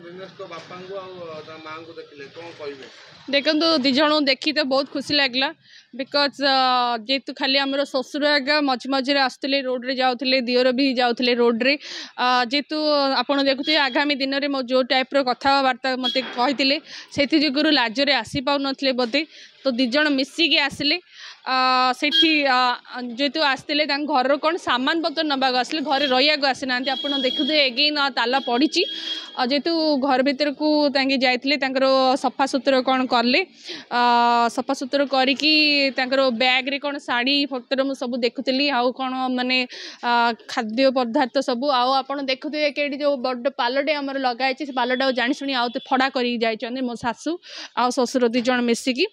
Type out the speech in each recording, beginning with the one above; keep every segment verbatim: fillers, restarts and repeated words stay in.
ଦିନେଶଙ୍କ ବାପାଙ୍କୁ ଆଉ ତା ମାଆଙ୍କୁ ଦେଖିଲେ କ'ଣ କହିବେ? ଦେଖନ୍ତୁ, ଦୁଇ ଜଣଙ୍କୁ ଦେଖି ତ ବହୁତ ଖୁସି ଲାଗିଲା, because ଯେହେତୁ ଖାଲି ଆମର ଶ୍ୱଶୁର ଆଜ୍ଞା ମଝି ମଝିରେ ଆସୁଥିଲେ, ରୋଡ଼ରେ ଯାଉଥିଲେ, ଦିଅର ବି ଯାଉଥିଲେ ରୋଡ଼ରେ। ଯେହେତୁ ଆପଣ ଦେଖୁଥିବେ, ଆଗାମୀ ଦିନରେ ମୋ ଯେଉଁ ଟାଇପ୍ର କଥାବାର୍ତ୍ତା ମୋତେ କହିଥିଲେ, ସେଥି ଯୋଗୁରୁ ଲାଜରେ ଆସିପାରୁନଥିଲେ ବୋଧେ। ତ ଦୁଇ ଜଣ ମିଶିକି ଆସିଲେ ସେଠି। ଯେହେତୁ ଆସିଥିଲେ, ତାଙ୍କ ଘରର କ'ଣ ସାମାନ ପତ୍ର ନେବାକୁ ଆସିଲେ, ଘରେ ରହିବାକୁ ଆସିନାହାନ୍ତି। ଆପଣ ଦେଖୁଥିବେ, ଏଗେଇନ୍ ତାଲା ପଡ଼ିଛି। ଯେହେତୁ ଘର ଭିତରକୁ ତାଙ୍କେ ଯାଇଥିଲେ, ତାଙ୍କର ସଫାସୁତୁରା କ'ଣ କଲେ, ସଫାସୁତୁରା କରିକି ତାଙ୍କର ବ୍ୟାଗ୍ରେ କ'ଣ ଶାଢ଼ୀ ପତ୍ର ମୁଁ ସବୁ ଦେଖୁଥିଲି, ଆଉ କ'ଣ ମାନେ ଖାଦ୍ୟ ପଦାର୍ଥ ସବୁ। ଆଉ ଆପଣ ଦେଖୁଥିବେ କି ଏଇଠି ଯେଉଁ ବଡ଼ ପାଲଟେ ଆମର ଲଗା ହେଇଛି, ସେ ପାଲଟାକୁ ଜାଣିଶୁଣି ଆଉ ଫଡ଼ା କରିକି ଯାଇଛନ୍ତି ମୋ ଶାଶୁ ଆଉ ଶ୍ୱଶୁର ଦୁଇ ଜଣ ମିଶିକି।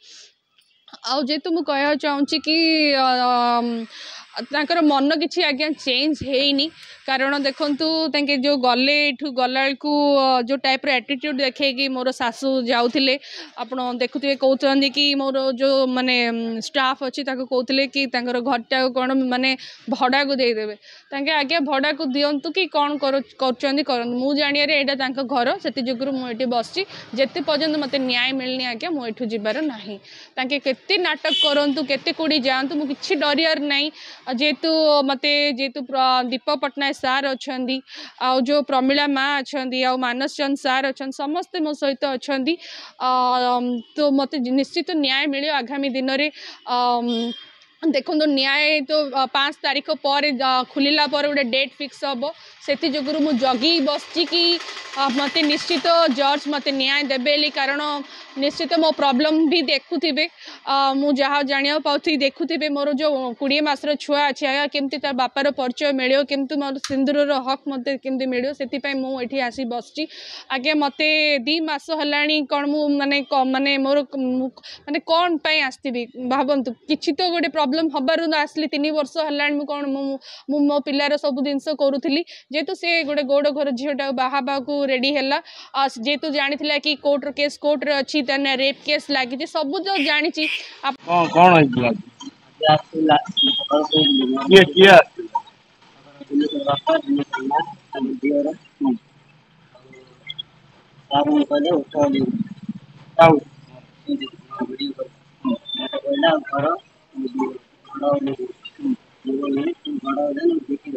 ଆଉ ଯେହେତୁ ମୁଁ କହିବାକୁ ଚାହୁଁଛି କି ତାଙ୍କର ମନ କିଛି ଆଜ୍ଞା ଚେଞ୍ଜ ହେଇନି, କାରଣ ଦେଖନ୍ତୁ, ତାଙ୍କେ ଯେଉଁ ଗଲେ ଏଇଠୁ, ଗଲାବେଳକୁ ଯେଉଁ ଟାଇପ୍ର ଆଟିଟ୍ୟୁଡ଼୍ ଦେଖେଇକି ମୋର ଶାଶୁ ଯାଉଥିଲେ, ଆପଣ ଦେଖୁଥିବେ। କହୁଛନ୍ତି କି ମୋର ଯେଉଁ ମାନେ ଷ୍ଟାଫ୍ ଅଛି, ତାକୁ କହୁଥିଲେ କି ତାଙ୍କର ଘରଟାକୁ କ'ଣ ମାନେ ଭଡ଼ାକୁ ଦେଇଦେବେ। ତାଙ୍କେ ଆଜ୍ଞା ଭଡ଼ାକୁ ଦିଅନ୍ତୁ କି କ'ଣ କରୁଛନ୍ତି କରନ୍ତୁ, ମୁଁ ଜାଣିବାରେ ଏଇଟା ତାଙ୍କ ଘର। ସେଥି ଯୋଗୁରୁ ମୁଁ ଏଇଠି ବସିଛି। ଯେତେ ପର୍ଯ୍ୟନ୍ତ ମୋତେ ନ୍ୟାୟ ମିଳିନି ଆଜ୍ଞା, ମୁଁ ଏଠୁ ଯିବାର ନାହିଁ। ତାଙ୍କେ କେତେ ନାଟକ କରନ୍ତୁ, କେତେ କୋଉଠି ଯାଆନ୍ତୁ, ମୁଁ କିଛି ଡରିବାର ନାହିଁ। ଯେହେତୁ ମୋତେ ଯେହେତୁ ଦୀପକ ପଟ୍ଟନାୟକ ସାର୍ ଅଛନ୍ତି, ଆଉ ଯେଉଁ ପ୍ରମିଳା ମା ଅଛନ୍ତି, ଆଉ ମାନସ ଚନ୍ଦ ସାର୍ ଅଛନ୍ତି, ସମସ୍ତେ ମୋ ସହିତ ଅଛନ୍ତି, ତ ମୋତେ ନିଶ୍ଚିତ ନ୍ୟାୟ ମିଳିବ ଆଗାମୀ ଦିନରେ। ଦେଖନ୍ତୁ, ନ୍ୟାୟ ତ ପାଞ୍ଚ ତାରିଖ ପରେ ଖୋଲିଲା ପରେ ଗୋଟେ ଡେଟ୍ ଫିକ୍ସ ହେବ। ସେଥି ଯୋଗୁରୁ ମୁଁ ଜଗି ବସିଛି କି ମୋତେ ନିଶ୍ଚିତ ଜଜ୍ ମୋତେ ନ୍ୟାୟ ଦେବେ ବୋଲି, କାରଣ ନିଶ୍ଚିତ ମୋ ପ୍ରୋବ୍ଲେମ୍ ବି ଦେଖୁଥିବେ। ମୁଁ ଯାହା ଜାଣିବାକୁ ପାଉଥିବି, ଦେଖୁଥିବେ ମୋର ଯେଉଁ କୋଡ଼ିଏ ମାସର ଛୁଆ ଅଛି ଆଜ୍ଞା, କେମିତି ତା ବାପାର ପରିଚୟ ମିଳିବ, କେମିତି ମୋର ସିନ୍ଦୁରର ହକ୍ ମୋତେ କେମିତି ମିଳିବ, ସେଥିପାଇଁ ମୁଁ ଏଠି ଆସି ବସିଛି ଆଜ୍ଞା। ମୋତେ ଦୁଇ ମାସ ହେଲାଣି, କ'ଣ ମୁଁ ମାନେ ମାନେ ମୋର ମାନେ କ'ଣ ପାଇଁ ଆସିଥିବି ଭାବନ୍ତୁ। କିଛି ତ ଗୋଟେ ପ୍ରୋବ୍ଲେମ୍ ହେବାରୁ ଆସିଲି। ତିନି ବର୍ଷ ହେଲାଣି ମୁଁ କ'ଣ ମୁଁ ମୁଁ ମୋ ପିଲାର ସବୁ ଜିନିଷ କରୁଥିଲି। ଯେହେତୁ ସେ ଗୋଟେ ଗୌଡ଼ ଘର ଝିଅଟାକୁ ବାହା ହେବାକୁ ରେଡ଼ି ହେଲା, ଯେହେତୁ ଜାଣିଥିଲା କି କୋର୍ଟର କେସ୍ କୋର୍ଟରେ ଅଛି, ତା ରେପ୍ କେସ୍ ଲାଗିଛି, ସବୁ ତ ଜାଣିଛି। କ'ଣ କ'ଣ ହେଇଥିଲା? କିଏ କିଏ ଆସିଥିଲା? ବାପା, ଦିଅର। ସାର୍ କହିଲେ ଉଠ, ଆଉ ଭିଡ଼ିଓ ମତେ କହିଲା ଘର ଘର। ମୁଁ କହିଲି ଘର ବିକି।